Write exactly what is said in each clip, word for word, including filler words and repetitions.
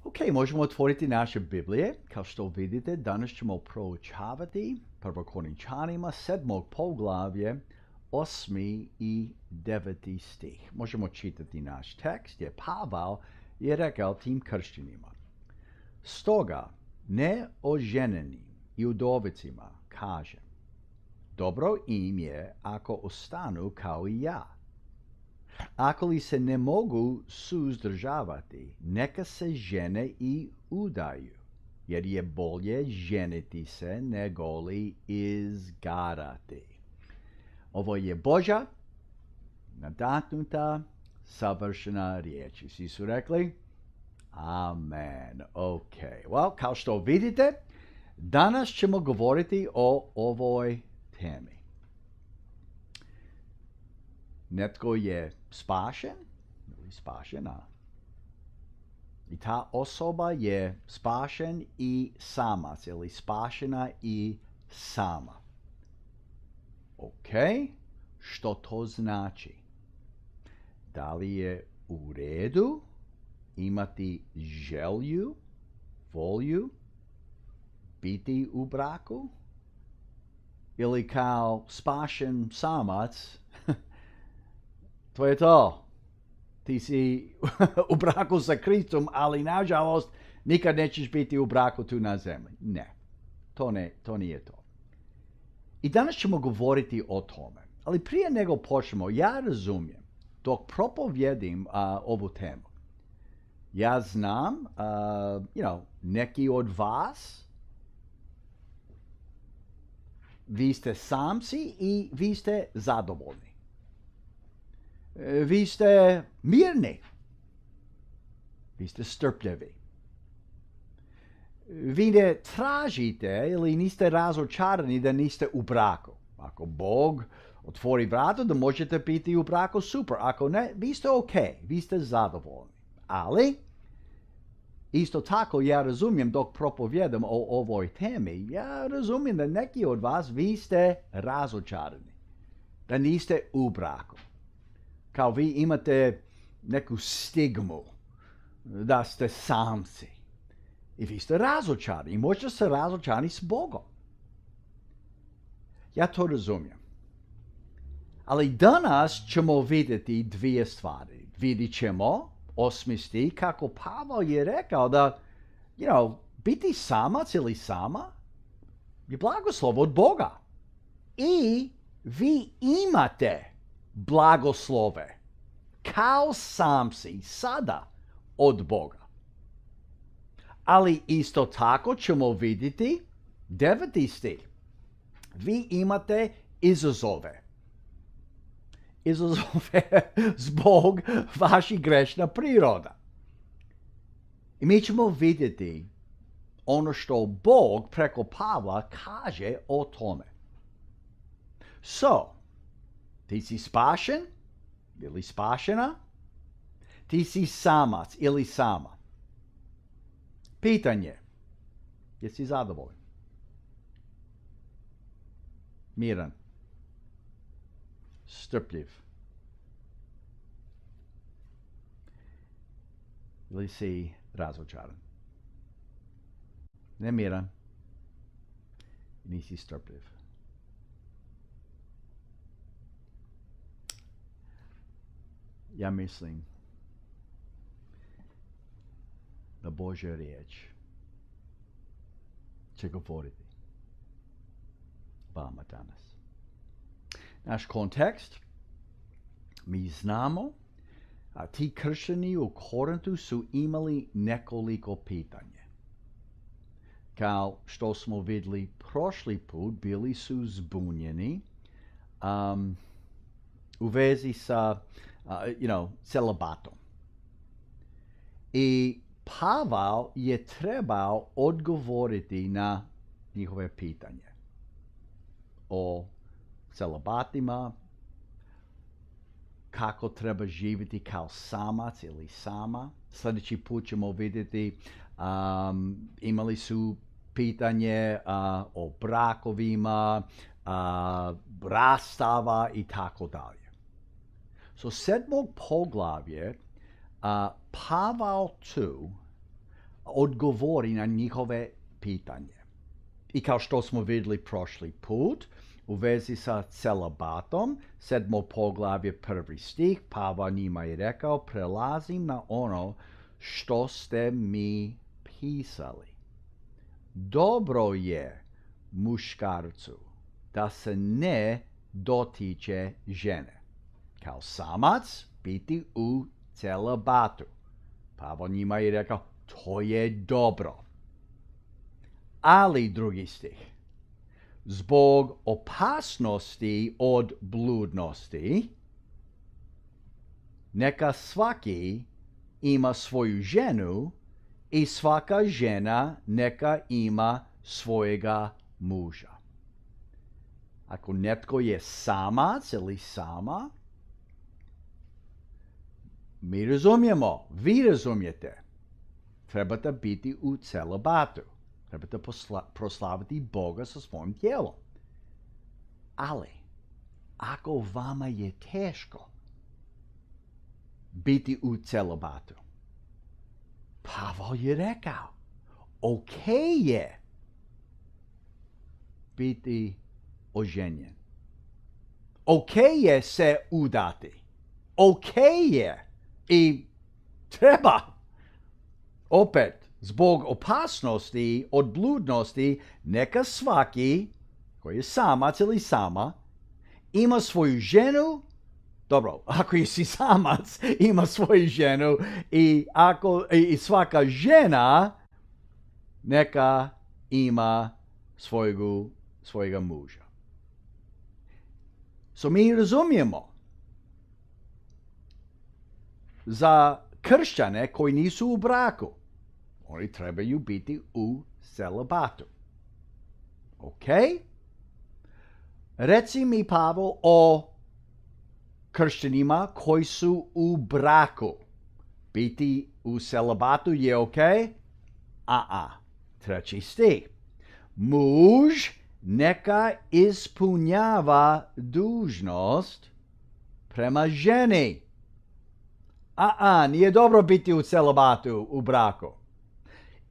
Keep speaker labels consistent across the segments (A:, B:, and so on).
A: Ok, možemo otvoriti naše Biblije. Kao što vidite, danas ćemo proučavati Prvo Korinčanima sedmog poglavlje, osmi i deveti stih. Možemo čitati naš tekst, jer Pavel je rekao tim kršćanima. Stoga, neoženjenim i udovicima kaže, dobro im je ako ostanu kao i ja. Ako li se ne mogu suzdržavati, neka se žene i udaju, jer je bolje ženiti se nego li izgarati. Ovo je Božja, nadahnuta, savršena riječ. Svi su rekli? Amen. Ok. Well, kao što vidite, danas ćemo govoriti o ovoj temi. Netko je spašen ili spašena. I ta osoba je spašen i samac ili spašena i sama. Ok, što to znači? Da li je u redu imati želju, volju, biti u braku? Ili kao spašen samac, to je to. Ti si u braku sa Kristom, ali nažalost nikad nećeš biti u braku tu na zemlji. Ne, to, ne, to nije to. I danas ćemo govoriti o tome. Ali prije nego počnemo, ja razumijem, dok propovjedim uh, ovu temu, ja znam, uh, you know, neki od vas, vi ste samci i vi ste zadovoljni. Vi ste mirni. Vi ste strpljivi. Vi ne tražite ili niste razočarani da niste u braku. Ako Bog otvori vrata da možete biti u braku, super. Ako ne, vi ste ok. Vi ste zadovoljni. Ali, isto tako ja razumijem dok propovjedam o ovoj temi, ja razumijem da neki od vas vi ste razočarani. Da niste u braku. Kao vi imate neku stigmu da ste samci. I vi ste razočarani. I možda ste razočarani s Bogom. Ja to razumijem. Ali danas ćemo vidjeti dvije stvari. Vidit ćemo osmi stih kako Pavel je rekao da, you know, biti samac ili sama je blagoslov od Boga. I vi imate blagoslove kao samci sada od Boga. Ali isto tako ćemo vidjeti deveti stih. Vi imate izazove. Izazove zbog vaših grešna priroda. I mi ćemo vidjeti ono što Bog preko Pavla kaže o tome. So, ti si spašen ili spašena? Ti si samac ili sama? Pitanje. Jesi zadovoljan? Miran? Strpljiv? Ili si razočaran? Nemiran? Nisi strpljiv? Ja mislim da Božja riječ će govoriti vama danas. Naš kontekst, mi znamo, a ti kršćani u Korintu su imali nekoliko pitanja. Kao što smo vidjeli prošli put, bili su zbunjeni um, u vezi sa Uh, you know, celibatom. I Pavel je trebao odgovoriti na njihove pitanje o celibatima, kako treba živjeti kao samac ili sama. Sljedeći put ćemo vidjeti, um, imali su pitanje uh, o brakovima, uh, rastava i tako dalje. So sedmog poglavlje uh, Pavel tu odgovori na njihove pitanje. I kao što smo vidjeli prošli put, u vezi sa celibatom, sedmo poglavlje, prvi stih, Pavao njima je rekao, prelazim na ono što ste mi pisali. Dobro je muškarcu da se ne dotiče žene. Kao samac biti u celibatu. Pavao njima je rekao, to je dobro. Ali, drugi stih, zbog opasnosti od bludnosti, neka svaki ima svoju ženu i svaka žena neka ima svojega muža. Ako netko je samac ili sama, mi razumijemo, vi razumijete, trebate biti u celibatu. Trebate proslaviti Boga sa svojim tijelom. Ali, ako vama je teško biti u celibatu, Pavao je rekao, ok je biti oženjen. Ok je se udati. Ok je i treba. Opet, zbog opasnosti od bludnosti, neka svaki koji je samac ili sama ima svoju ženu. Dobro, ako si samac, ima svoju ženu i, ako, i svaka žena neka ima svojegu, svojega muža. So mi razumijemo za kršćane koji nisu u braku, oni trebaju biti u celibatu. Ok? Reci mi, Pavao, o kršćanima koji su u braku. Biti u celibatu je ok? A-a. Treći stih. Muž neka ispunjava dužnost prema ženi. A-a, nije dobro biti u celibatu, u braku.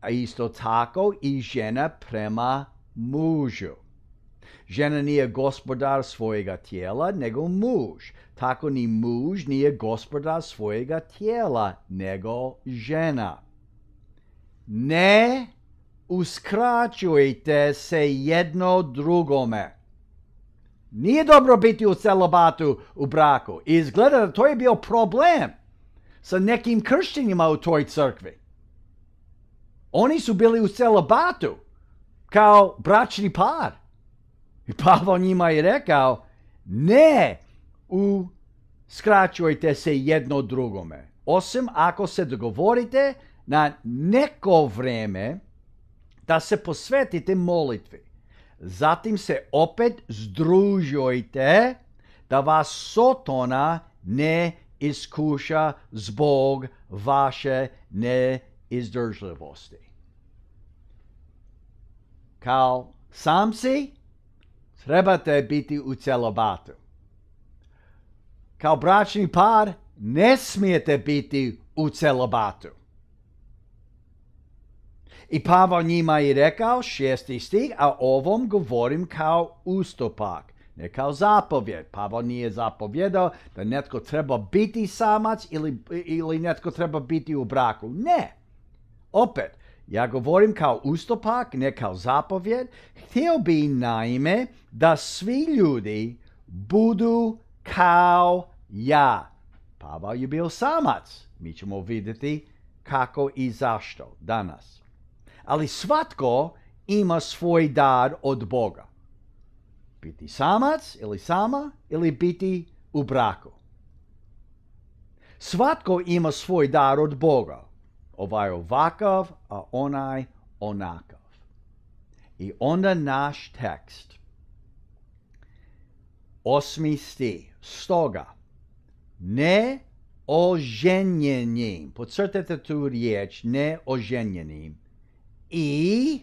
A: A isto tako i žena prema mužu. Žena nije gospodar svojega tijela, nego muž. Tako ni muž nije gospodar svojega tijela, nego žena. Ne uskraćujte se jedno drugome. Nije dobro biti u celibatu u braku. I izgleda da to je bio problem sa nekim kršćanima u toj crkvi. Oni su bili u celibatu kao bračni par. I Pavao njima je rekao, ne uskraćujte se jedno drugome. Osim ako se dogovorite na neko vreme da se posvetite molitvi. Zatim se opet združujte da vas Sotona ne iskuša zbog vaše neizdržljivosti. Kao samci trebate biti u celibatu. Kao bračni par ne smijete biti u celibatu. I Pavao njima je rekao, šesti stih, a ovom govorim kao ustupak, ne kao zapovjed. Pavao nije zapovjedao da netko treba biti samac ili, ili netko treba biti u braku. Ne. Opet, ja govorim kao ustupak, ne kao zapovjed. Htio bi naime da svi ljudi budu kao ja. Pavao je bio samac. Mi ćemo vidjeti kako i zašto danas. Ali svatko ima svoj dar od Boga. Biti samac ili sama ili biti u braku. Svatko ima svoj dar od Boga. Ovaj ovakav, a onaj onakav. I onda naš tekst. Osmi stih. Stoga, ne oženjenim. Podcrtajte tu riječ, ne oženjenim. I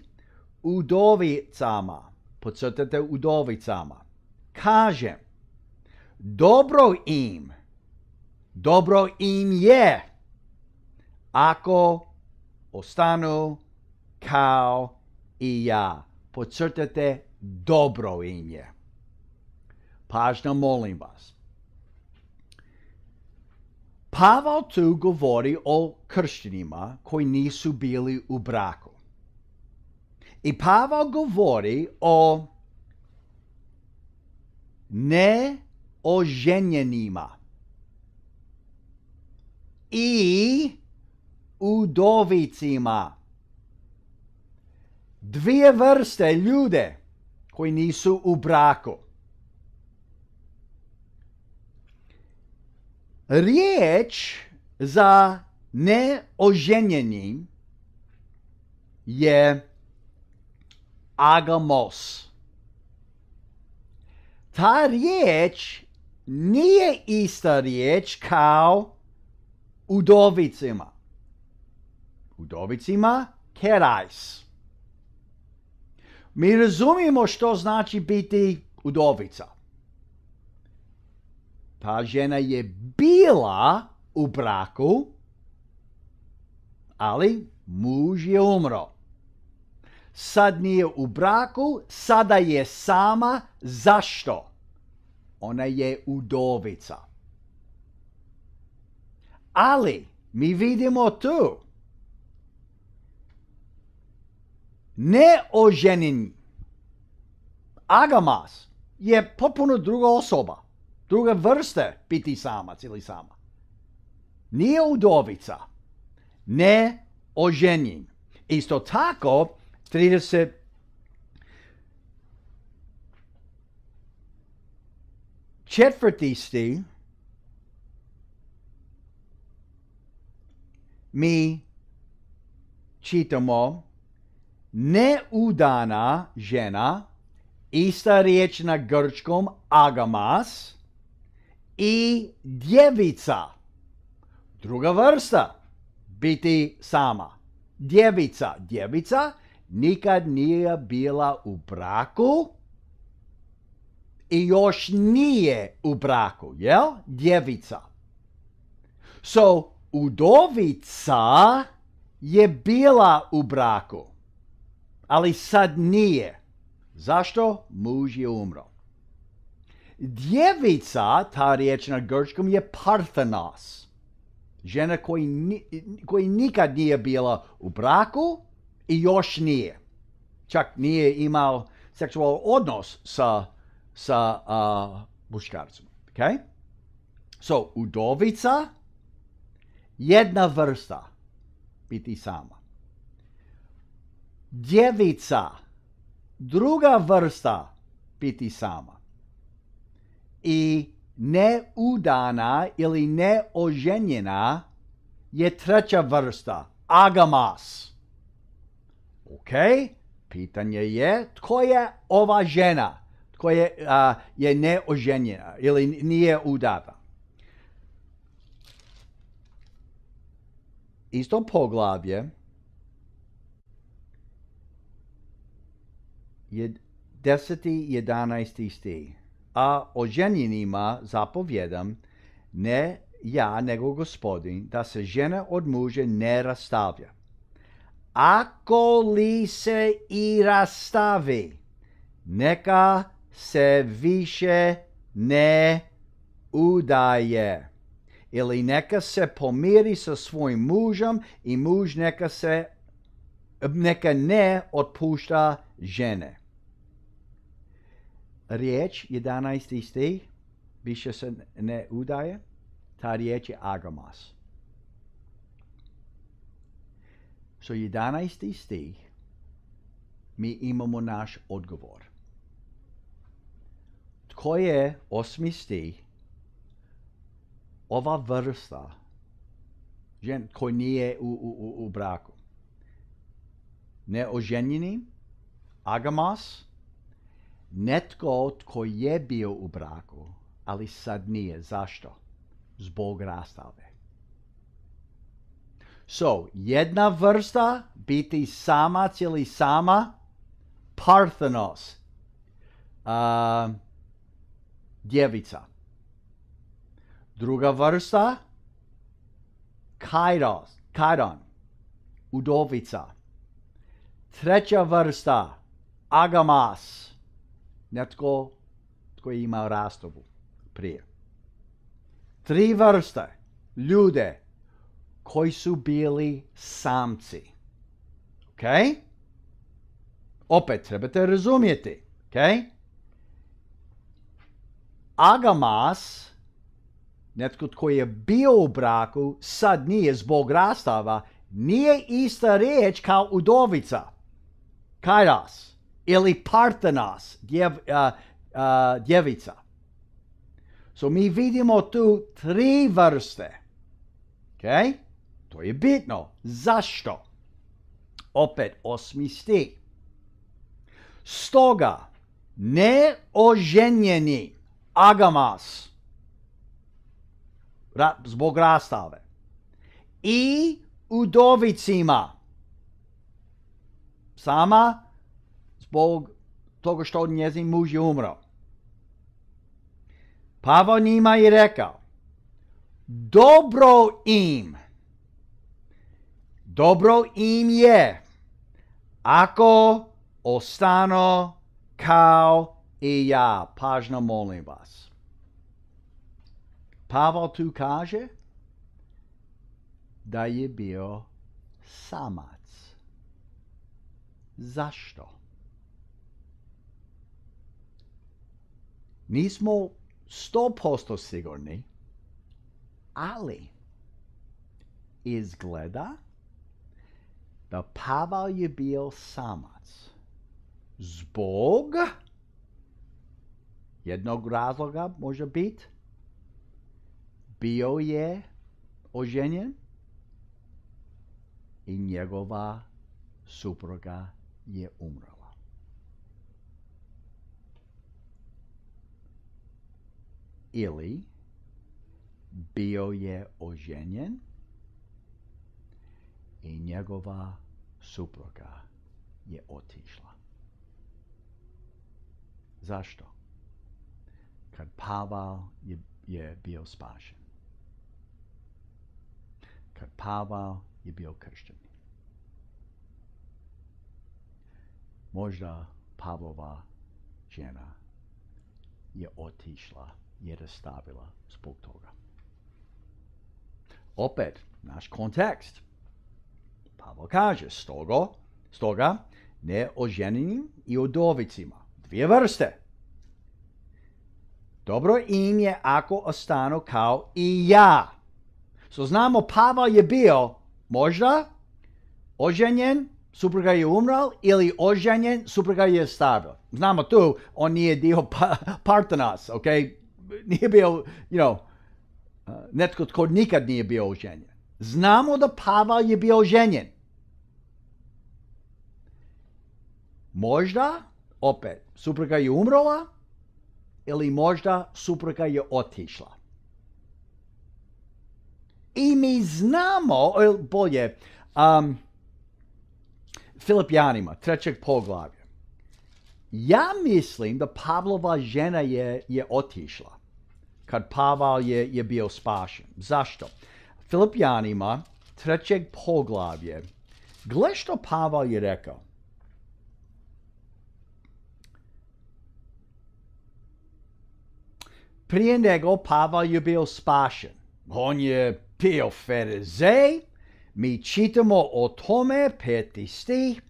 A: udovicama. Podcrtajte udovicama. Kažem, dobro im, dobro im je, ako ostanu kao i ja. Podcrtajte dobro ime. Pažnja, molim vas. Pavel tu govori o kršćanima koji nisu bili u braku. I Pavel govori o neoženjenima i udovicima. Dvije vrste ljude koji nisu u braku. Riječ za neoženjeni je agamos. Ta riječ nije ista riječ kao udovicima. Udovicima kerais. Mi razumijemo što znači biti udovica. Ta žena je bila u braku, ali muž je umro. Sad nije u braku, sada je sama. Zašto? Ona je udovica. Ali mi vidimo tu neoženjeni agamas je potpuno druga osoba, druga vrsta biti samac ili sama. Nije udovica, neoženjen. Isto tako, trideset četvrti stih mi čitamo neudana žena, ista riječ na grčkom agamas, i djevica, druga vrsta, biti sama. Djevica, djevica nikad nije bila u braku i još nije u braku, jel? Djevica. So, udovica je bila u braku, ali sad nije. Zašto? Muž je umro. Djevica, ta riječ na grčkom, je parthenos. Žena koji, ni, koji nikad nije bila u braku i još nije. Čak nije imao seksualan odnos sa, sa uh, muškarcem. Okay? So, udovica, jedna vrsta, biti sama. Djevica, druga vrsta, biti sama. I neudana ili neoženjena je treća vrsta, agamas. Ok, pitanje je tko je ova žena, tko je, uh, je neoženjena ili nije udata. Isto poglavlje, jed, deseti, jedanaesti stih. A oženjenima zapovjedam, ne ja, nego Gospodin, da se žena od muža ne rastavlja. Ako li se i rastavi, neka se više ne udaje. Ili neka se pomiri sa svojim mužem i muž neka se neka ne otpušta žene. Riječ, jedanaesti stih, više se ne udaje, ta riječ je agamas. So, jedanaesti stih, mi imamo naš odgovor. Tko je, osmi stih, ova vrsta, žen koji nije u, u, u, u braku? Neoženjeni, agamas, netko tko je bio u braku, ali sad nije. Zašto? Zbog rastave. So, jedna vrsta, biti samac ili sama, parthenos, uh, djevica. Druga vrsta, kairos, kaidon, udovica. Treća vrsta, agamas. Netko tko je imao rastavu prije. Tri vrste, ljude koji su bili samci. Ok? Opet trebate razumjeti. Ok? Agamas, netko tko je bio u braku, sad nije zbog rastava, nije ista riječ kao udovica. Kairos ili partenos, djev, uh, uh, djevica. So mi vidimo tu tri vrste. Ok? To je bitno. Zašto? Opet osmi stih. Stoga neoženjeni agamas ra, zbog rastave i udovicima sama zbog toga što njezin muž je umro. Pavao njima je rekao, dobro im, dobro im je ako ostanu kao i ja. Pažno molim vas. Pavao tu kaže da je bio samac. Zašto? Nismo sto posto sigurni, ali izgleda da Pavao je bio samac zbog jednog razloga, može biti, bio je oženjen i njegova supruga je umrla. Ili bio je oženjen i njegova supruga je otišla. Zašto? Kad Pavao je, je bio spašen. Kad Pavao je bio kršten. Možda Pavlova žena je otišla jer je stavila zbog toga. Opet, naš kontekst. Pavao kaže, stoga, stoga neoženjenim i udovicima. Dvije vrste. Dobro im je ako ostanu kao i ja. So znamo, Pavao je bio možda oženjen, supruga je umrla, ili oženjen, supruga je stavila. Znamo tu, on nije dio pa, partenos, ok? Nije bio, you know, uh, netko tko nikad nije bio oženjen. Znamo da Pavao je bio oženjen. Možda, opet, supruga je umrla, ili možda supruga je otišla. I mi znamo, bolje, um, Filipljanima, trećeg poglavlja. Ja mislim da Pavlova žena je, je otišla kad Pavao je, je bio spašen. Zašto? Filipljanima, trećeg poglavlja, gle što Pavao je rekao. Prije nego Pavao je bio spašen. On je bio farizej. Mi čitamo o tome, peti stih.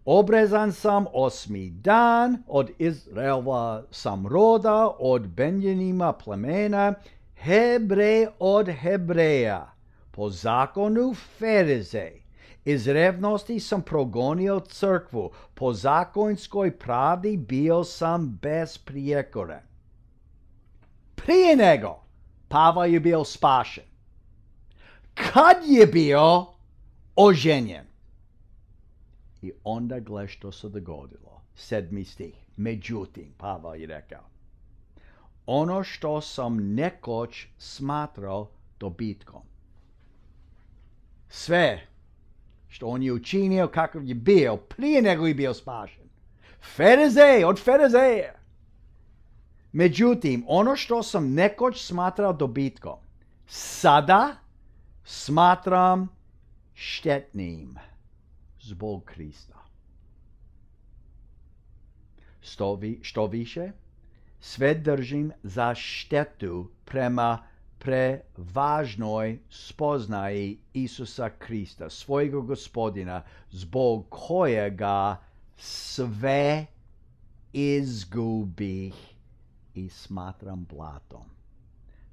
A: Obrezan sam osmi dan, od Izraela sam roda, od Benjamina plemena, Hebrej od Hebreja, po zakonu farizej. Iz revnosti sam progonio crkvu, po zakonskoj pravdi bio sam besprijekoren. Prije nego Pavao je bio spašen. Kad je bio oženjen? I onda gle što se dogodilo. Sedmi stih. Međutim, Pavao je rekao, ono što sam nekoć smatrao dobitkom. Sve što on je učinio, kakav je bio, prije nego je bio spašen. Farizej od farizeja. Međutim, ono što sam nekoć smatrao dobitkom, sada smatram štetnim zbog Krista. Što, vi, što više, sve držim za štetu prema prevažnoj spoznaji Isusa Krista, svojega gospodina, zbog kojega sve izgubih i smatram blatom,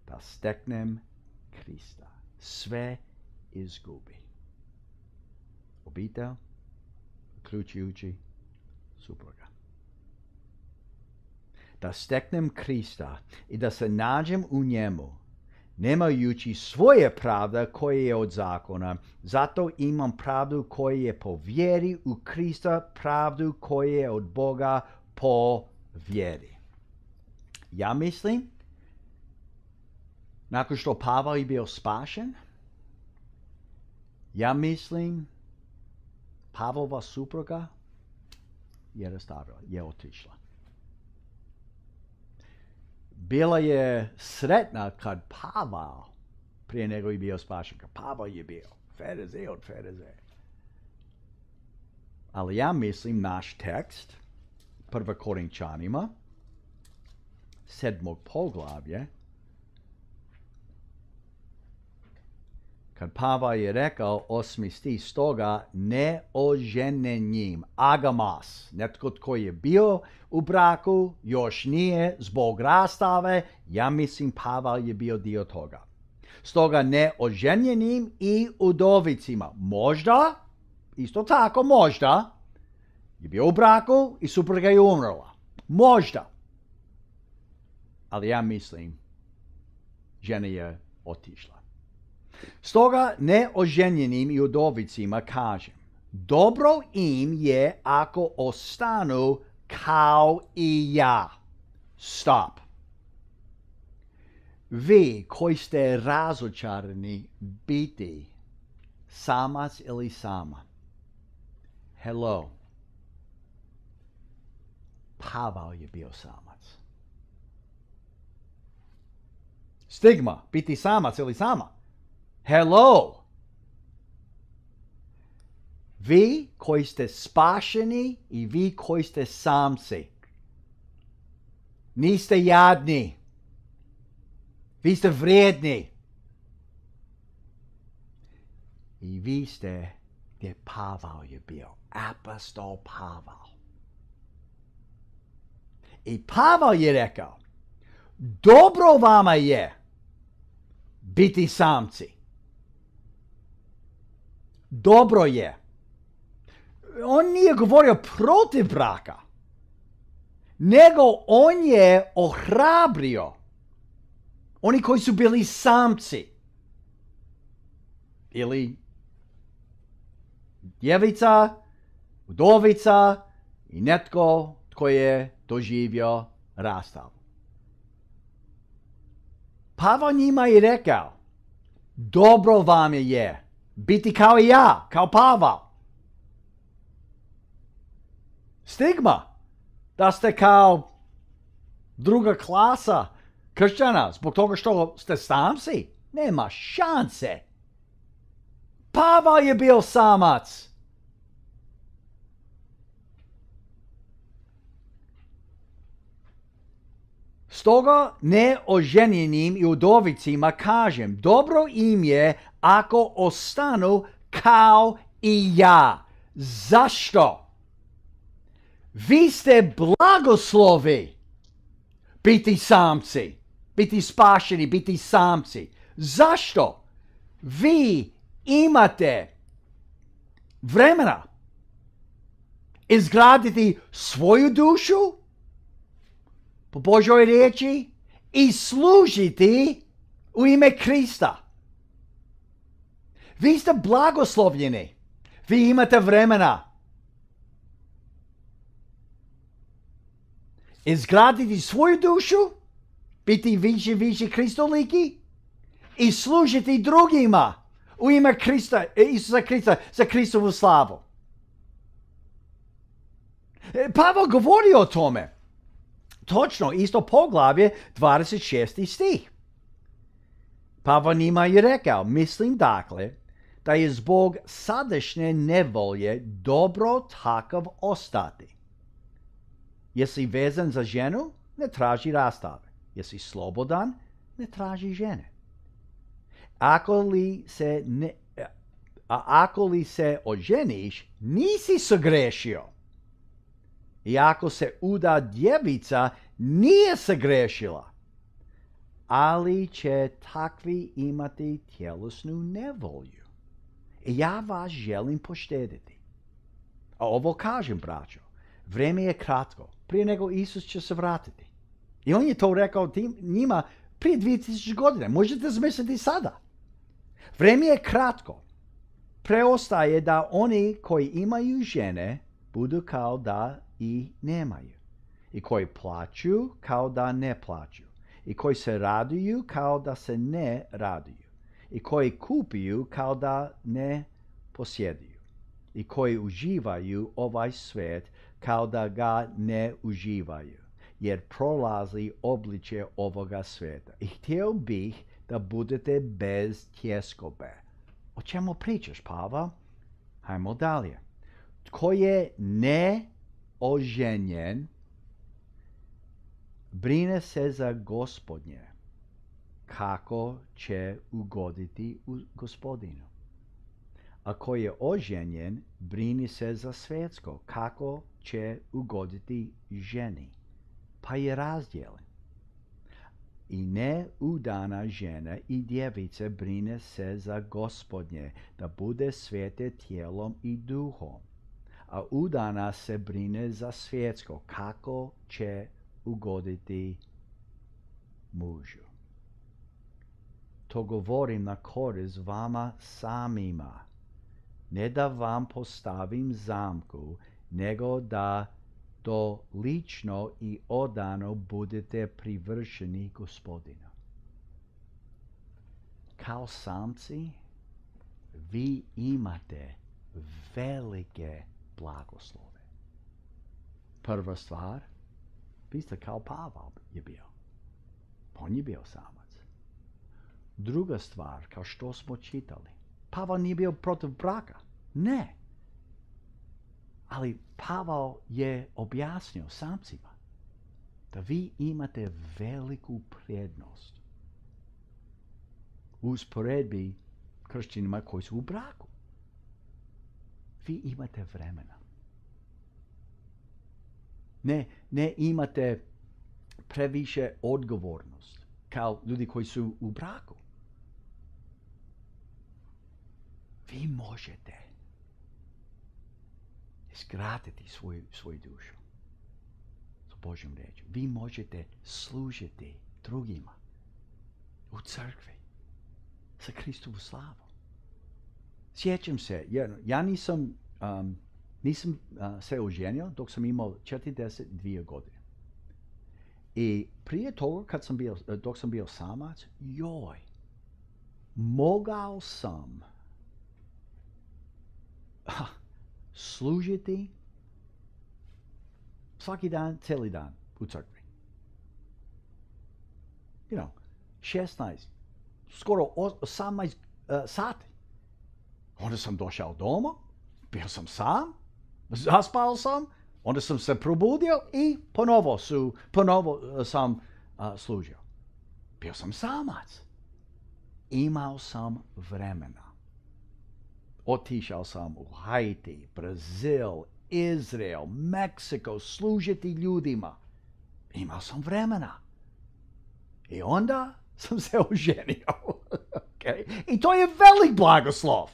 A: da steknem Krista. Sve izgubi. Obitelj, uključujući supruga. Da steknem Krista i da se nađem u njemu, nemajući svoje pravde koje je od zakona, zato imam pravdu koja je po vjeri u Krista, pravdu koja je od Boga po vjeri. Ja mislim, nakon što Pavel je bio spašen, ja mislim, Pavlova supruga je rastavila, je otišla. Bila je sretna kad Pavel, prije nego je bio spašen, kad Pavel je bio Ferezej od Ferezej. Ali ja mislim naš tekst, prva Korinčanima, sedmog poglavlje, kad Pavel je rekao osmi stih, stoga neoženjenim, agamos, netko tko je bio u braku, još nije zbog rastave, ja mislim Pavel je bio dio toga. Stoga neoženjenim i udovicima, možda, isto tako možda, je bio u braku i supruga je umrla. Možda. Ali ja mislim, žena je otišla. Stoga neoženjenim i udovicima kažem, dobro im je ako ostanu kao i ja. Stop. Vi koji ste razočarani biti samac ili sama. Hello. Pavel je bio samac. Stigma, biti samac ili sama. Hello! Vi koji ste spašeni i vi koji ste samci. Niste jadni. Vi ste vrijedni. I vi ste gdje Pavel je bio. Apostol Pavel. I Pavel je rekao, dobro vama je biti samci. Dobro je. On nije govorio protiv braka, nego on je ohrabrio oni koji su bili samci. Ili djevica, udovica i netko tko je doživio rastav. Pavel njima je rekao, dobro vam je biti kao i ja, kao Pavel. Stigma da ste kao druga klasa kršćana zbog toga što ste samci. Nema šanse. Pavel je bio samac. Stoga neoženjenim i udovicima kažem, dobro im je ako ostanu kao i ja. Zašto? Vi ste blagoslovi biti samci, biti spašeni, biti samci. Zašto? Vi imate vremena izgraditi svoju dušu po Božoj riječi i služiti u ime Krista. Vi ste blagoslovljeni. Vi imate vremena izgraditi svoju dušu, biti više više kristoliki i služiti drugima u ime Krista, Isusa Krista, za Kristovu slavu. Pavel govori o tome. Točno, isto poglavlje, dvadeset šesti stih. Pavel njima je rekao, mislim dakle, da je zbog sadašnje nevolje dobro takav ostati. Jesi vezan za ženu, ne traži rastave. Jesi slobodan, ne traži žene. Ako li se ne, a ako li se oženiš, nisi sagrešio. I ako se uda djevica, nije sagrešila. Ali će takvi imati tjelesnu nevolju. I ja vas želim poštediti. A ovo kažem, braćo, vrijeme je kratko, prije nego Isus će se vratiti. I on je to rekao tim, njima prije dvije tisuće godine. Možete zamisliti sada. Vrijeme je kratko. Preostaje da oni koji imaju žene budu kao da i nemaju. I koji plaću kao da ne plaću. I koji se raduju kao da se ne raduju. I koji kupuju kao da ne posjeduju. I koji uživaju ovaj svijet kao da ga ne uživaju. Jer prolazi obličje ovoga svijeta. I htio bih da budete bez tjeskobe. O čemu pričaš, Pava? Hajmo dalje. Tko je neoženjen, brine se za Gospodnje, kako će ugoditi u Gospodinu. A ko je oženjen, brini se za svjetsko, kako će ugoditi ženi. Pa je razdjelen. I neudana žena i djevice brine se za Gospodnje, da bude svete tijelom i duhom. A udana se brine za svjetsko, kako će ugoditi mužu. To govorim na korist vama samima. Ne da vam postavim zamku, nego da to lično i odano budete privršeni Gospodinu. Kao samci, vi imate velike blagoslove. Prva stvar, vi ste kao Pavel je bio. On je bio samac. Druga stvar, kao što smo čitali, Pavel nije bio protiv braka. Ne. Ali Pavel je objasnio samcima da vi imate veliku prednost u usporedbi kršćanima koji su u braku. Vi imate vremena. Ne, ne imate previše odgovornost kao ljudi koji su u braku. Vi možete izgraditi svoju, svoju dušu s Božjom riječju. Vi možete služiti drugima u crkvi za Kristovu slavu. Sjećam se, ja, ja nisam, um, nisam uh, se oženio dok sam imao četrdeset dvije godine. I prije toga, kad sam bio, dok sam bio samac, joj, mogao sam ha, služiti svaki dan, cijeli dan u crkvi. You know, šesnaest, skoro osamnaest uh, sati. Onda sam došao doma, bio sam sam, zaspao sam, onda sam se probudio i ponovo, su, ponovo sam uh, služio. Bio sam samac. Imao sam vremena. Otišao sam u Haiti, Brazil, Izrael, Meksiko, služiti ljudima. Imao sam vremena. I onda sam se oženio. Okay? I to je velik blagoslov.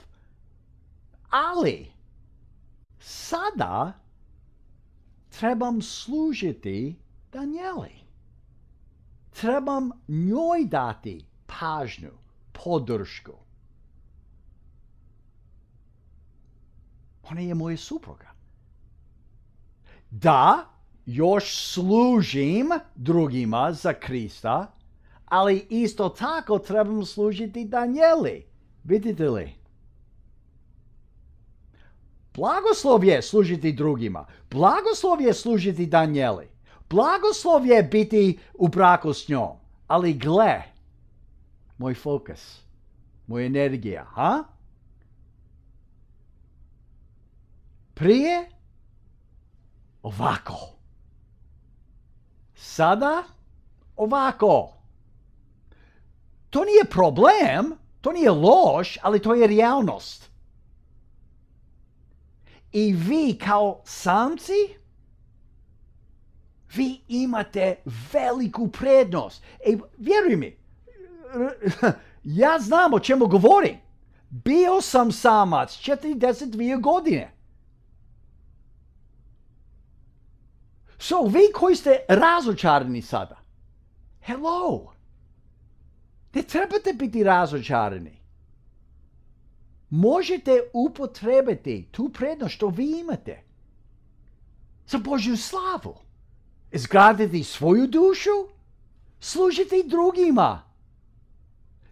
A: Ali, sada trebam služiti Danijeli. Trebam njoj dati pažnju, podršku. Ona je moja supruga. Da, još služim drugima za Krista, ali isto tako trebam služiti Danijeli. Vidite li? Blagoslov je služiti drugima. Blagoslov je služiti Danijeli. Blagoslov je biti u braku s njom. Ali gle, moj fokus, moja energija, ha? Prije ovako. Sada ovako. To nije problem, to nije loš, ali to je realnost. I vi kao samci, vi imate veliku prednost. E, vjeruj mi, ja znam o čemu govorim. Bio sam samac četrdeset dvije godine. So, vi koji ste razočarani sada, hello, ne trebate biti razočarani. Možete upotrebiti tu prednost što vi imate za Božju slavu. Izgraditi svoju dušu, služiti drugima.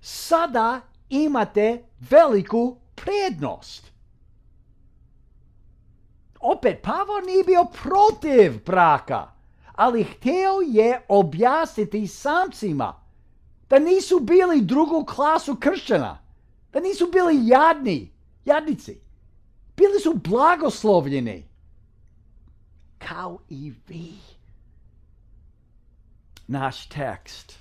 A: Sada imate veliku prednost. Opet, Pavao nije bio protiv braka, ali htio je objasniti samcima da nisu bili drugu klasu kršćana, da nisu bili jadni, jadnici. Bili su blagoslovljeni, kao i vi. Naš tekst.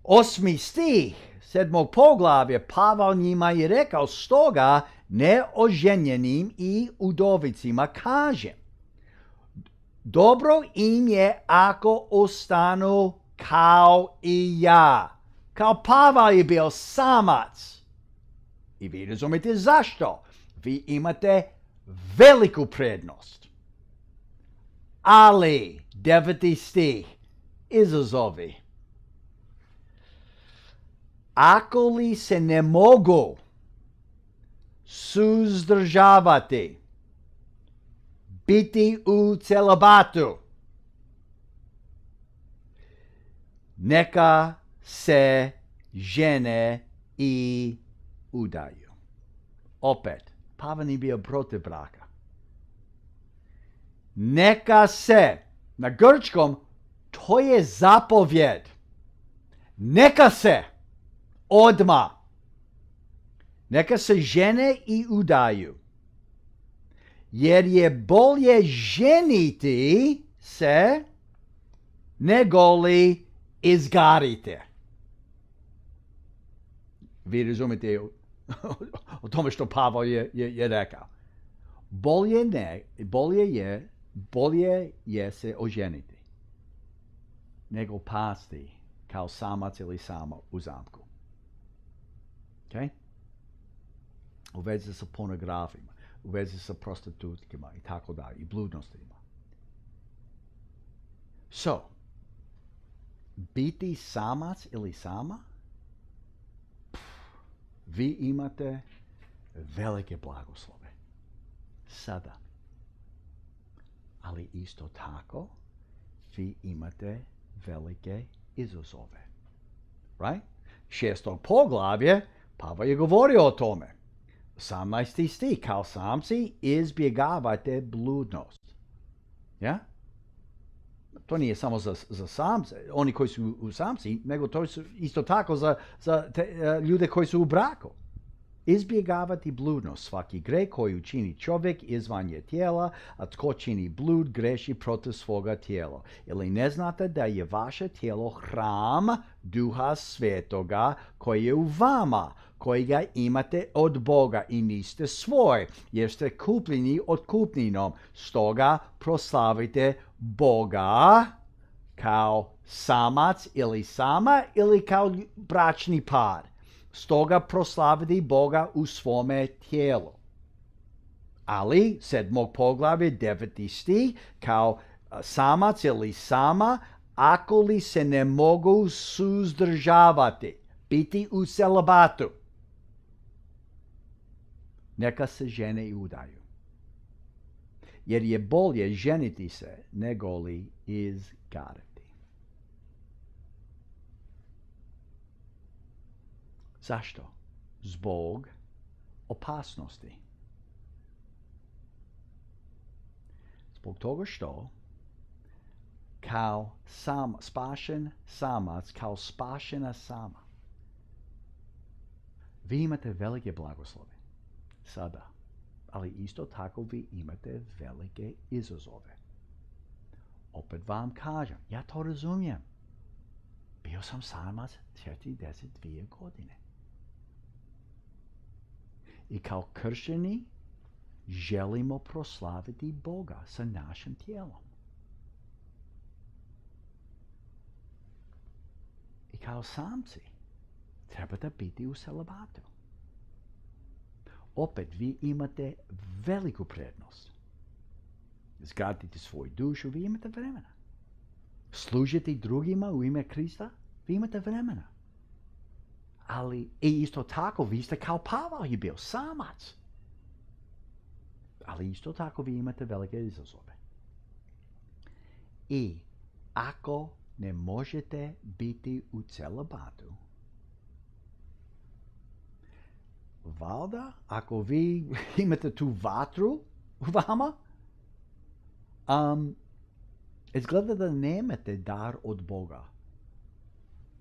A: Osmi stih sedmog poglavlja, Pavao njima je rekao, stoga neoženjenim i udovicima kažem, dobro im je ako ostanu kao i ja. Kao Pavao je bio samac. I vi razumite zašto. Vi imate veliku prednost. Ali, deveti stih, izazovi. Ako li se ne mogu suzdržavati, biti u celibatu, neka se žene i udaju. Opet, Pavao nije bio protiv braka. Neka se, na grčkom, to je zapovjed. Neka se, odma. Neka se žene i udaju. Jer je bolje ženiti se nego li izgarite. Vi razumite o tome što Pavao je, je, je rekao. Bolje ne, bolje je, bolje je se oženiti nego pasti kao samac ili samo u zamku. Okay? U vezi sa pornografima, u vezi sa prostitutkama i tako dalje, i bludnostima. So, biti samac ili sama, pff, vi imate velike blagoslove. Sada. Ali isto tako, vi imate velike izazove. Right? Šestog poglavlje, Pavao je govorio o tome. osamnaesti stih, kao samci izbjegavajte bludnost. Ja? To nije samo za, za samce, oni koji su u samci, nego to su isto tako za, za te, uh, ljude koji su u braku. Izbjegavati bludnost. Svaki greh koji učini čovjek izvan je tijela, a tko čini blud greši protiv svoga tijela. Ili ne znate da je vaše tijelo hram Duha Svetoga koji je u vama, kojega imate od Boga i niste svoj, jer ste kupljeni otkupninom. Stoga proslavite Boga kao samac ili sama ili kao bračni par. Stoga proslaviti Boga u svome tijelu. Ali, sedmog poglavlje, deveti stih, kao samac ili sama, ako li se ne mogu suzdržavati, biti u celibatu, neka se žene i udaju. Jer je bolje ženiti se nego li izgarati. Zašto? Zbog opasnosti. Zbog toga što kao sam, spašen samac, kao spašena sama, vi imate velike blagoslove. Sada. ali isto tako vi imate velike izazove. Opet vam kažem, ja to razumijem. Bio sam samac četrdeset dvije godine. I kao kršćani želimo proslaviti Boga sa našim tijelom. I kao samci trebate biti u celibatu. Opet vi imate veliku prednost. Izgraditi svoju dušu, vi imate vremena. Služiti drugima u ime Krista, vi imate vremena. Ali i isto tako vi ste kao Pavao je bio samac. Ali isto tako vi imate velike izazove. I ako ne možete biti u celibatu, valjda ako vi imate tu vatru u vama, um, izgleda da nemate dar od Boga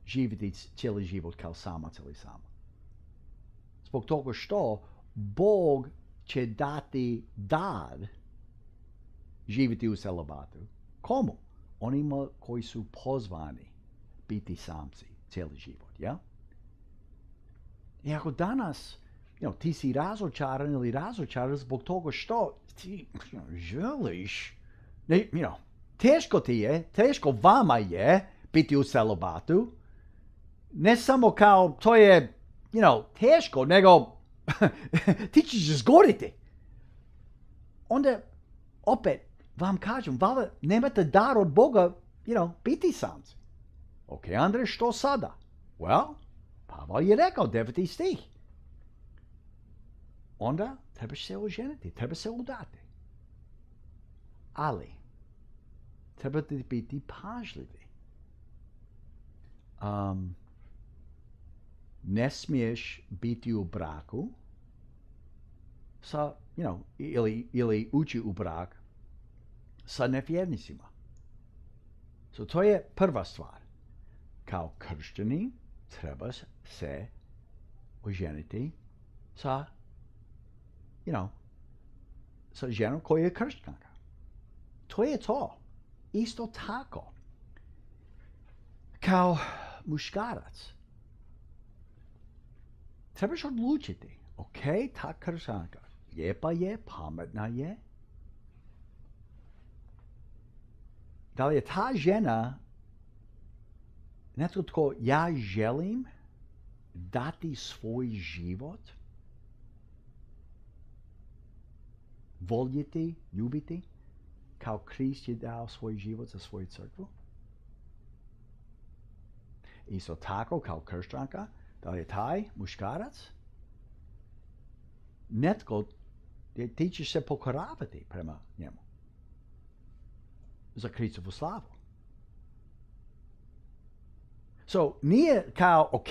A: živjeti cijeli život kao samac ili sama. Zbog toga što Bog će dati dar živjeti u celibatu. Komu? Onima koji su pozvani biti samci cijeli život, ja? I ako danas you know, ti si razočaran ili razočaran zbog toga što ti you know, želiš, ne, you know, teško ti je, teško vama je biti u celibatu, ne samo kao to je, you know, teško, nego ti ćeš izgoriti. Onda, opet, vam kažem, valjda nemate dar od Boga, you know, biti samci. Ok, Andrej, što sada? Well, Pavao je rekao, deveti stih. Onda trebaš se oženiti, treba se udati. Ali, trebate biti pažljivi. Um, ne smiješ biti u braku sa, you know, ili, ili ući u brak sa nevjernicima. So, to je prva stvar. Kao kršćani treba se oženiti sa, you know, sa ženom koja je kršćanka. To je to. Isto tako. Kao muškarac. Trebaš odlučiti. Ok, ta kršćanka lijepa je, pametna je. Da li je ta žena netko tko ja želim dati svoj život, voljeti, ljubiti, kao Krist je dao svoj život za svoju crkvu? Isto tako kao kršćanka, da li je taj muškarac netko ti ćeš se pokoravati prema njemu za Kristovu slavu. So, nije kao, ok,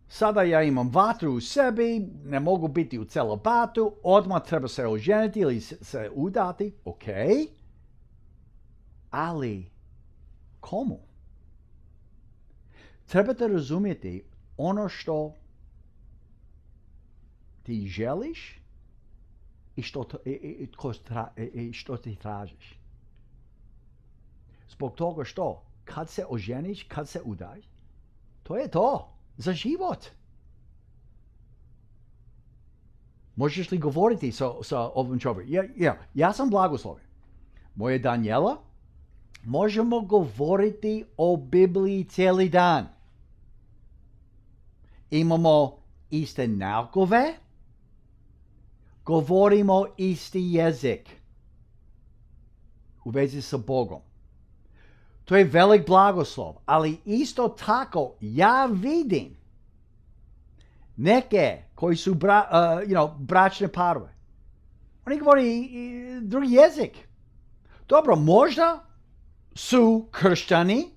A: sada ja imam vatru u sebi, ne mogu biti u celibatu, odmah treba se oženiti ili se udati, ok, ali komu? Trebate razumjeti ono što ti želiš i što, to, i, i, tra, i što ti tražiš. Zbog toga što kad se oženiš, kad se udaj, to je to, za život. Možeš li govoriti sa, sa ovim čovjekom? Ja, ja, ja sam blagosloven. Moja Daniela, možemo govoriti o Bibliji cijeli dan. Imamo iste naukove, govorimo isti jezik u vezi sa Bogom. To je velik blagoslov, ali isto tako ja vidim neke koji su bra, uh, you know, bračne parove. Oni govori i, drugi jezik. Dobro, možda su kršćani,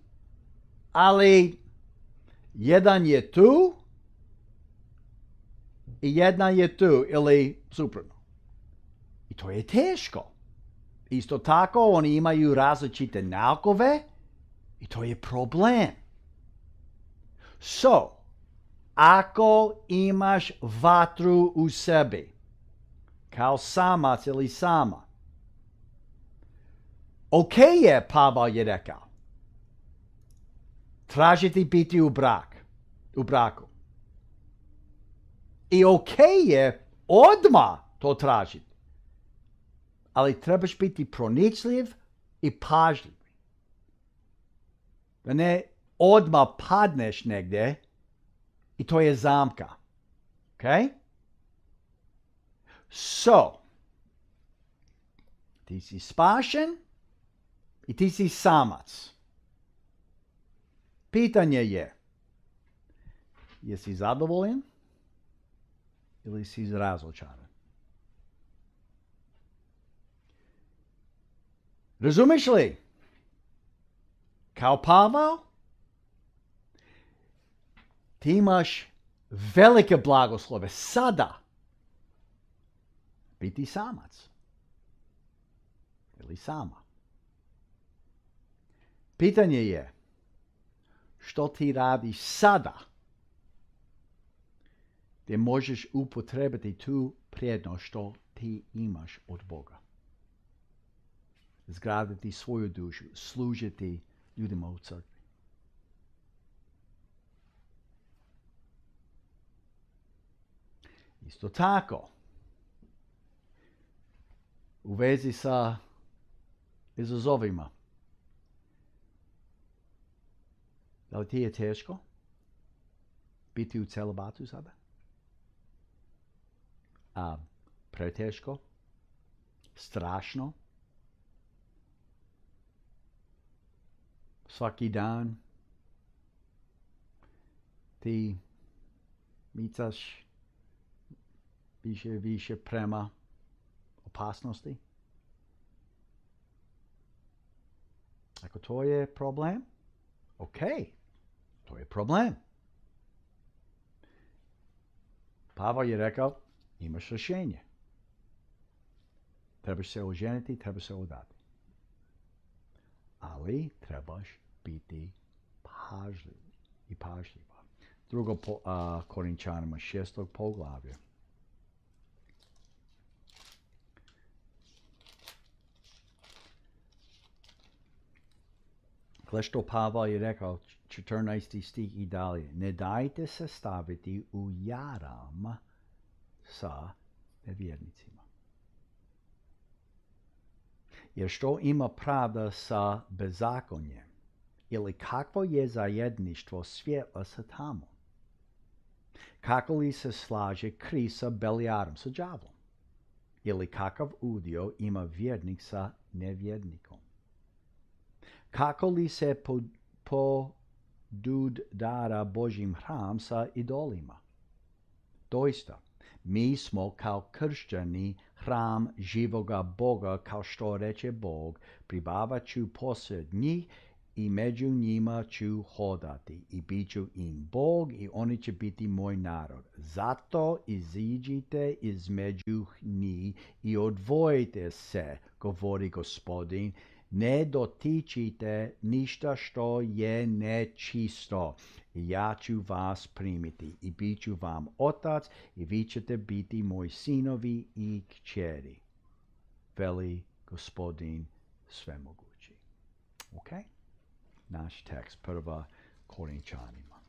A: ali jedan je tu i jedna je tu ili suprotno. I to je teško. Isto tako oni imaju različite naukove i to je problem. So, ako imaš vatru u sebi, kao samac ili sama. Ok je, Pavel je rekao, tražiti biti u brak, u braku. I ok je odmah to tražiti. Ali trebaš biti pronicljiv i pažljiv. Da ne odmah padneš negdje i to je zamka. Okay? So, ti si spašen i ti si samac. Pitanje je, jesi zadovoljan ili si razočaran? Razumiješ li? Kao Pavel, ti imaš velike blagoslove sada biti samac ili sama. Pitanje je, što ti radiš sada gdje možeš upotrebiti tu prednost što ti imaš od Boga. Zgraditi svoju dušu, služiti ljudima u crkvi. Isto tako, u vezi sa izazovima. Da li ti je teško biti u celibatu sada? A, preteško? Strašno? Svaki dan ti micaš više više prema opasnosti? Ako to je problem, ok, to je problem. Pavel je rekao, imaš rješenje. Trebaš se oženiti, trebaš se udati. Ali trebaš biti pažljiv i pažljiva. Drugo po, uh, Korinčanima šestog poglavlja. Gle što Pavel je rekao, četrnaesti stih i dalje. Ne dajte se staviti u jaram sa nevjernicima. Jer što ima pravda sa bezakonjem? Ili kakvo je zajedništvo svjetla sa tamom? Kako li se slaže Krist sa Belijarom, sa đavlom? Ili kakav udio ima vjernik sa nevjernikom? Kako li se podudara Božjim hram sa idolima? Doista, mi smo kao kršćani hram živoga Boga, kao što reče Bog, pribavat ću posred njih i među njima ću hodati i bit ću im Bog i oni će biti moj narod. Zato iziđite između njih i odvojite se, govori Gospodin, ne dotičite ništa što je nečisto. Ja ću vas primiti i bit ću vam otac i vi ćete biti moji sinovi i kćeri. Veli Gospodin svemogući. Ok? Naš tekst, prva Korinčanima.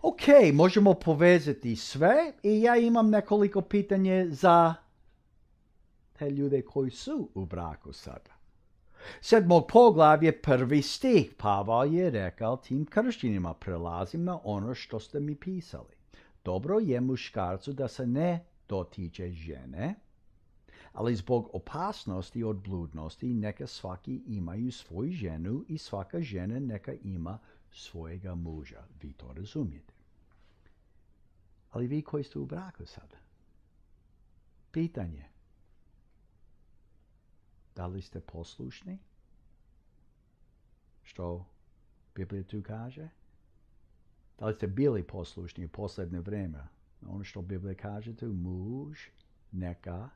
A: Ok, možemo povezati sve i ja imam nekoliko pitanje za te ljude koji su u braku sada. Sedmog poglavlje, prvi stih, Pavel je rekao tim kršćanima, prelazim na ono što ste mi pisali. Dobro je muškarcu da se ne dotiče žene, ali zbog opasnosti od bludnosti neka svaki imaju svoju ženu i svaka žena neka ima svojega muža. Vi to razumijete. Ali vi koji ste u braku sada, pitanje, da li ste poslušni? Što Biblija tu kaže? Da li ste bili poslušni u posljednje vrijeme? Ono što Biblija kaže tu, muž neka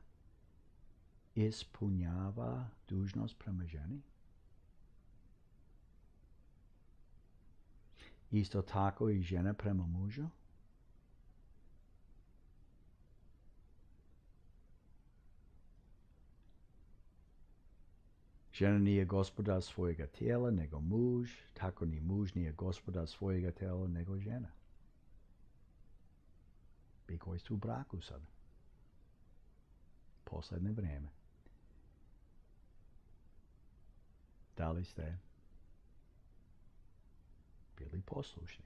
A: ispunjava dužnost prema ženi. Isto tako i žena prema mužu. Žena nije gospodar svojega tijela, nego muž, tako ni muž nije gospodar svojega tijela, nego žena. Vi koji ste u braku sad. Posljednje vrijeme. Da li ste bili poslušni?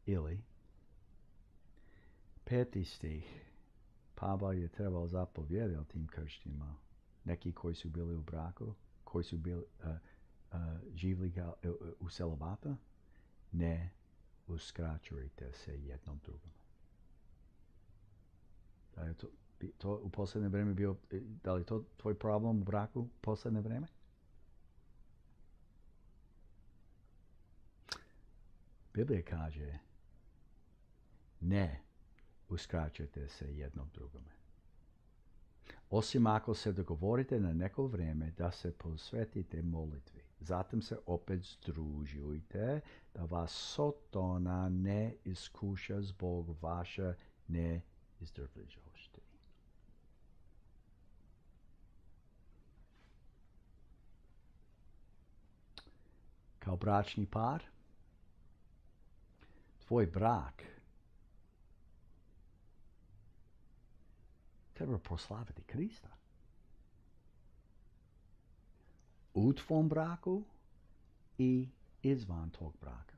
A: Ili peti stih. Pavao je trebao zapovjedati tim kršćanima, neki koji su bili u braku, koji su bili uh, uh, živjeli uh, u celibata, ne uskraćujte se jednom drugom. Da je to, to u posljednje vrijeme bio, da li to tvoj problem u braku u posljednje vrijeme? Biblija kaže, ne uskraćujte se jednom drugome. Osim ako se dogovorite na neko vrijeme da se posvetite molitvi. Zatim se opet združujte da vas Sotona ne iskuša zbog vaše neizdržljivosti. Kao bračni par, tvoj brak treba proslaviti Krista. U tvom braku i izvan tog braka.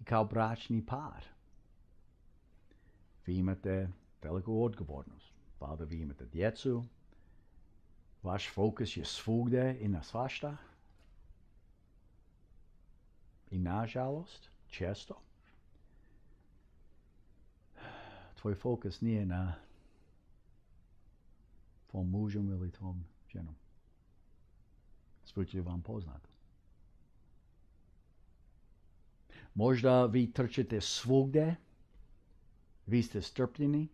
A: I kao bračni par, vi imate veliku odgovornost. Valjda vi imate djecu, vaš fokus je svugdje i na svašta. I nažalost, često, tvoj fokus nije na tvom mužem ili tvom ženom. Zvuči vam poznato. Možda vi trčite svugdje, vi ste strpljeni.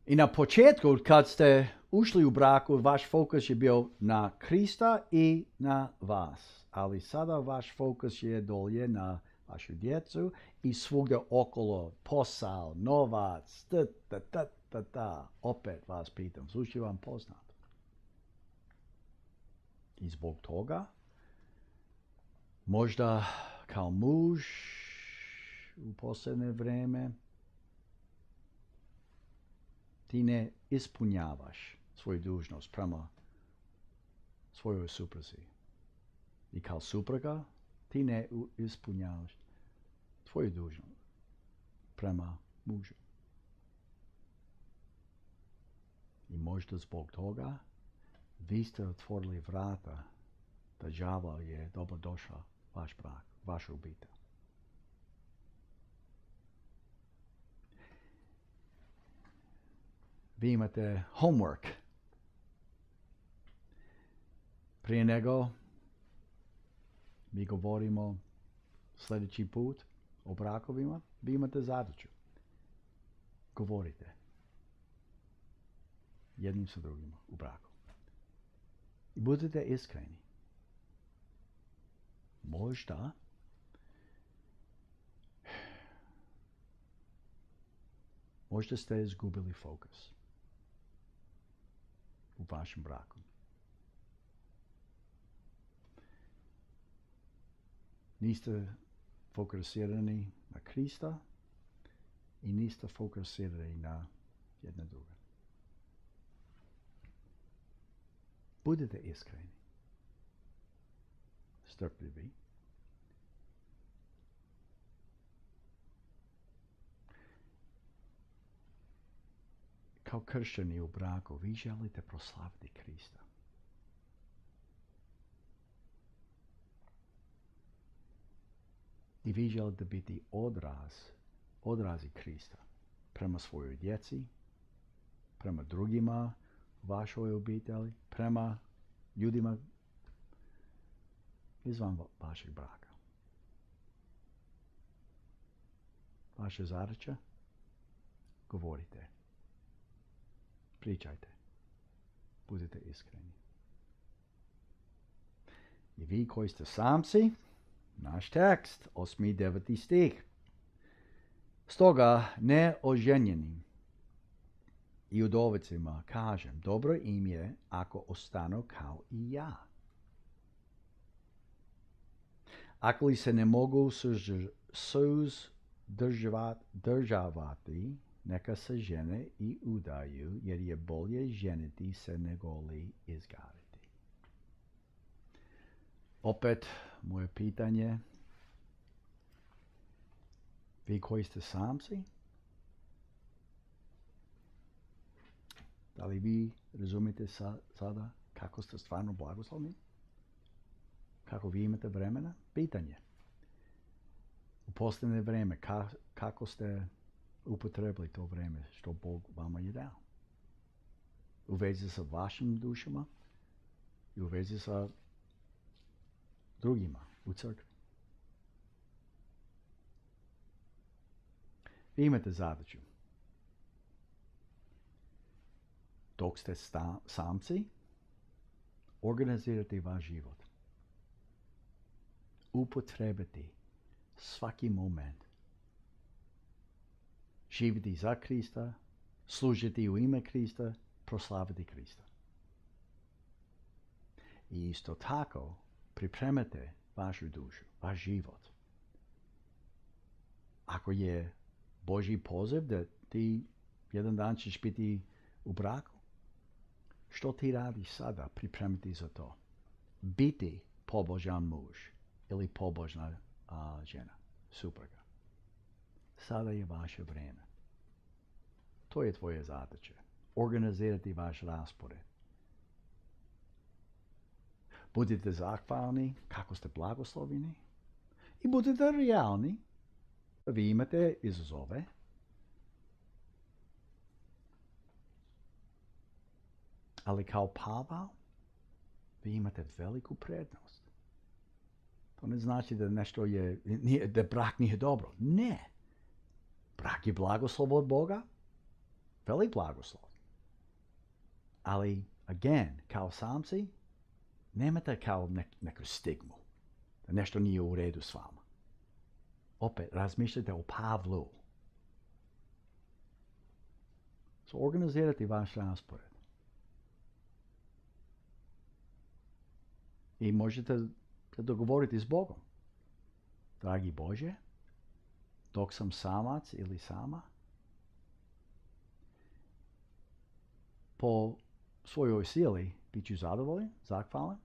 A: I na početku, kad ste ušli u braku, vaš fokus je bio na Krista i na vas. Ali sada vaš fokus je dolje na vašu djecu i svugdje okolo, posao, novac, ta, ta, ta, ta, ta. Opet vas pitam, zvuči vam poznato. I zbog toga, možda kao muž u posljednje vrijeme, ti ne ispunjavaš svoju dužnost prema svojoj supruzi. I kao supruga, ti ne ispunjavaš tvoju dužnost prema mužu. I možda zbog toga vi ste otvorili vrata da đavo je dobro došao vaš brak, vašu obitelj. Vi imate homework. Prije nego mi govorimo sljedeći put o brakovima, vi imate zadaću. Govorite jednim sa drugima u braku. I budite iskreni. Možda možda ste izgubili fokus u vašem braku. Niste fokusirani na Krista i niste fokusirani na jedne druge. Budite iskreni. Strpljivi. Kao kršćani u braku, vi želite proslaviti Krista. I vi želite biti odraz, odrazi Krista prema svojoj djeci, prema drugima u vašoj obitelji, prema ljudima izvan vašeg braka. Vaša zadaća? Govorite. Pričajte. Budite iskreni. I vi koji ste samci, Naš tekst, osmi i deveti stih. Stoga neoženjenim i udovicima kažem, dobro im je ako ostanu kao i ja. Ako li se ne mogu suzdržavati, neka se žene i udaju, jer je bolje ženiti se nego li izgariti. Opet, moje pitanje, vi koji ste samci, da li vi razumite sa, sada kako ste stvarno blagoslovni? Kako vi imate vremena? Pitanje. U posljednje vreme, ka, kako ste upotrebili to vreme što Bog vama je dao? U vezi sa vašim dušama i u vezi sa drugima u crkvi. Vi imate zadaću. Dok ste sta, samci, organizirati vaš život. Upotrebiti svaki moment. Živjeti za Krista, služiti u ime Krista, proslaviti Krista. I isto tako pripremate vašu dušu, vaš život. Ako je Božji poziv da ti jedan dan ćeš biti u braku, što ti radiš sada pripremiti za to? Biti pobožan muž ili pobožna a, žena, supruga. Sada je vaše vrijeme. To je tvoje zadaće. Organizirati vaš raspored. Budite zahvalni kako ste blagosloveni i budite realni. Vi imate izazove. Ali kao Pavao, vi imate veliku prednost. To ne znači da nešto je, nije, da brak nije dobro. Ne. Brak je blagoslov od Boga. Velik blagoslov. Ali, again, kao samci, nemate kao nek, neku stigmu. Da nešto nije u redu s vama. Opet, razmišljajte o Pavlu. So, organizirati vaš raspored. I možete se dogovoriti s Bogom. Dragi Bože, dok sam samac ili sama, po svojoj sili bit ću zadovoljan, zahvalan,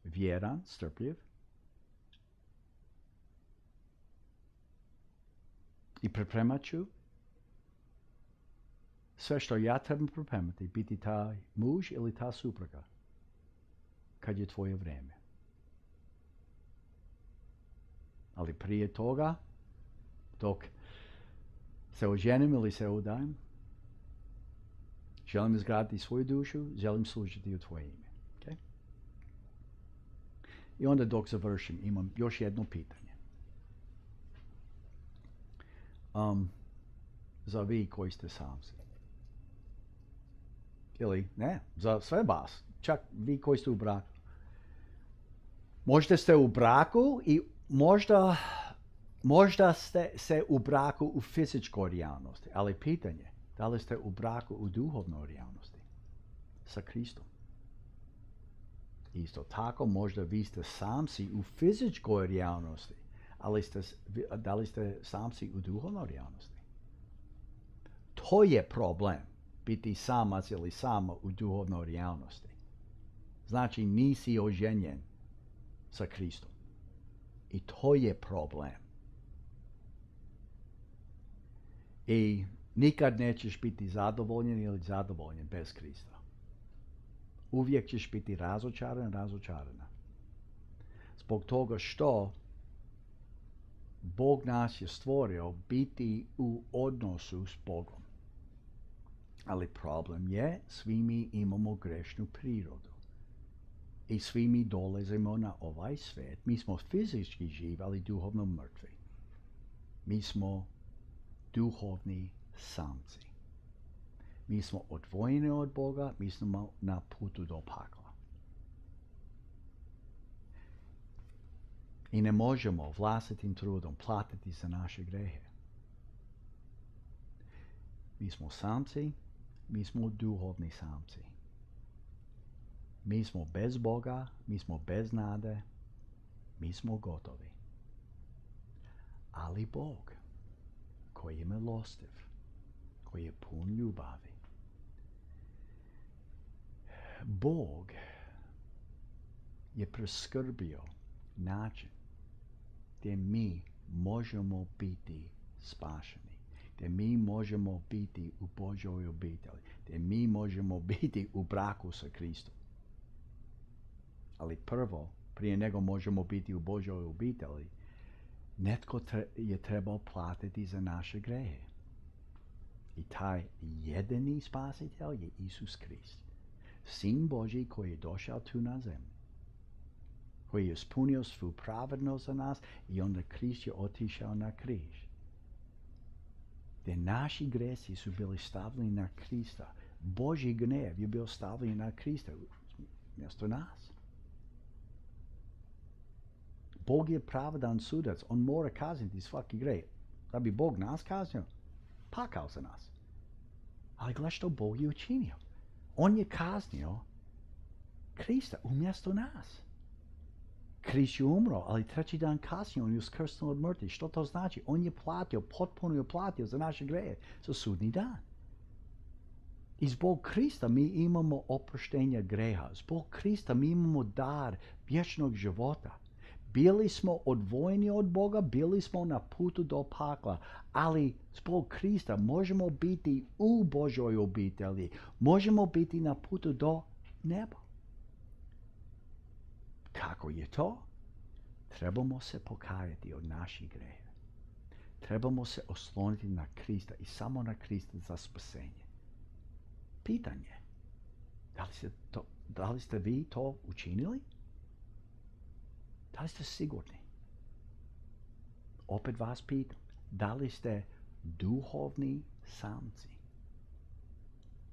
A: vjeran, strpljiv i pripremat ću sve što ja trebam pripremati, biti taj muž ili ta supruga kad je tvoje vrijeme. Ali prije toga, dok se oženim ili se udajem, želim izgraditi svoju dušu, želim služiti u tvoje ime. Okay? I onda dok završim, imam još jedno pitanje. Um, za vi koji ste samci. Ili ne, za sve vas. Čak vi koji ste u braku. Možda ste u braku i možda, možda ste se u braku u fizičkoj realnosti. Ali pitanje, da li ste u braku u duhovnoj realnosti? Sa Kristom. Isto tako, možda vi ste samci u fizičkoj realnosti. Ali ste, da li ste samci u duhovnoj realnosti? To je problem. Biti samac ili sama u duhovnoj realnosti. Znači nisi oženjen sa Kristom. I to je problem. I nikad nećeš biti zadovoljen ili zadovoljen bez Krista. Uvijek ćeš biti razočaran, razočarana. Zbog toga što Bog nas je stvorio biti u odnosu s Bogom. Ali problem je, svi mi imamo grešnu prirodu. I svi mi dolazimo na ovaj svijet. Mi smo fizički živi, ali duhovno mrtvi. Mi smo duhovni samci. Mi smo odvojeni od Boga, mi smo na putu do pakla. I ne možemo vlastitim trudom platiti za naše grehe. Mi smo samci, mi smo duhovni samci. Mi smo bez Boga, mi smo bez nade, mi smo gotovi. Ali Bog, koji je milostiv, koji je pun ljubavi, Bog je priskrbio način gdje mi možemo biti spašeni, gdje mi možemo biti u Božoj obitelji, gdje mi možemo biti u braku sa Kristom. Ali prvo, prije nego možemo biti u Božoj obitelji, netko je trebao platiti za naše grehe. I taj jedini spasitelj je Isus Krist. Sin Božji koji je došao tu na zemlju, koji je ispunio svu pravednost za nas i onda Krist je otišao na križ. Gdje naši gresi su bili stavljeni na Krista. Božji gnev je bio stavljen na Krista mjesto nas. Bog je pravedan sudac. On mora kazniti svaki grej. Da bi Bog nas kaznio, pakao za nas. Ali gledaj što Bog je učinio. On je kaznio Krista umjesto nas. Krist je umro, ali treći dan kasnije on je uskrsnuo od mrtvih. Što to znači? On je platio, potpuno je platio za naše greje, za sudni dan. I zbog Krista mi imamo oproštenje greha. Zbog Krista mi imamo dar vječnog života. Bili smo odvojeni od Boga, bili smo na putu do pakla, ali zbog Krista možemo biti u Božoj obitelji, možemo biti na putu do neba. Kako je to? Trebamo se pokajati od naših greha. Trebamo se osloniti na Krista i samo na Krista za spasenje. Pitanje, da li ste, to, da li ste vi to učinili? Da li ste sigurni? Opet vas pitam, da li ste duhovni samci?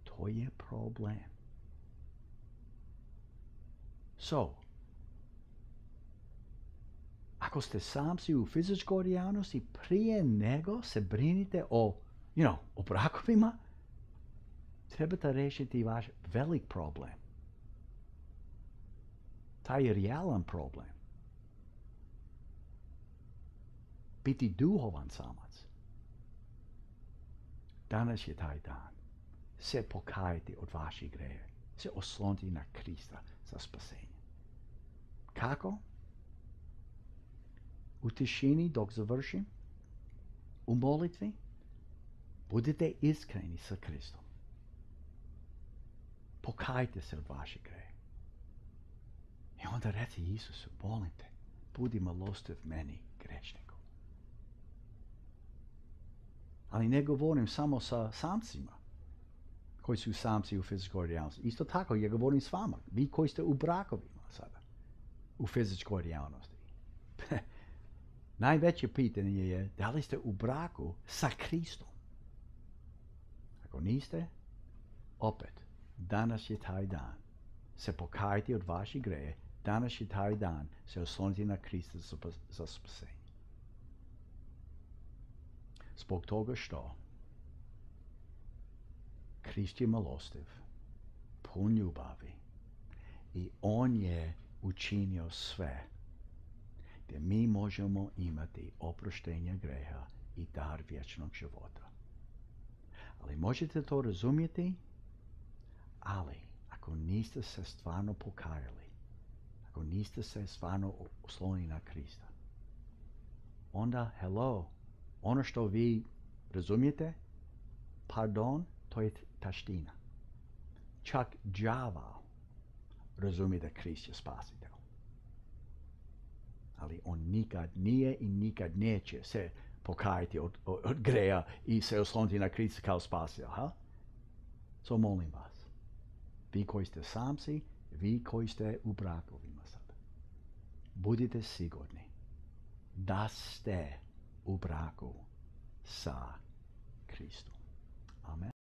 A: To je problem. So, ako ste samci u fizičkoj realnosti, prije nego se brinite o, you know, o brakovima, trebate riješiti vaš velik problem. Taj je realan problem. Biti duhovan samac. Danas je taj dan. Se pokajati od vaših greha. Se osloniti na Krista za spasenje. Kako? U tišini dok završim, u molitvi, budite iskreni sa Kristom. Pokajte se od vaših greha. I onda reci Isusu, molim te, budi milostiv meni, grešniku. Ali ne govorim samo sa samcima koji su samci u fizičkoj realnosti. Isto tako, ja govorim s vama, vi koji ste u brakovima sada, u fizičkoj realnosti. Najveće pitanje je da li ste u braku sa Kristom. Ako niste, opet, danas je taj dan. Se pokajati od vaših greha, danas je taj dan se osloniti na Krista za spasenje. Zbog toga što Krist je milostiv, pun ljubavi i on je učinio sve gdje mi možemo imati oproštenje greha i dar vječnog života. Ali možete to razumjeti, ali ako niste se stvarno pokajali, ako niste se stvarno oslonili na Krista, onda, hello, ono što vi razumijete, pardon, to je taština. Čak đavao razumije da Krist je spasitelj. Ali on nikad nije i nikad neće se pokajati od, od, od greha i se osloniti na Krista kao spasitelj. Ha? So molim vas, vi koji ste samci, vi koji ste u brakovima sad, budite sigurni da ste u braku sa Kristom.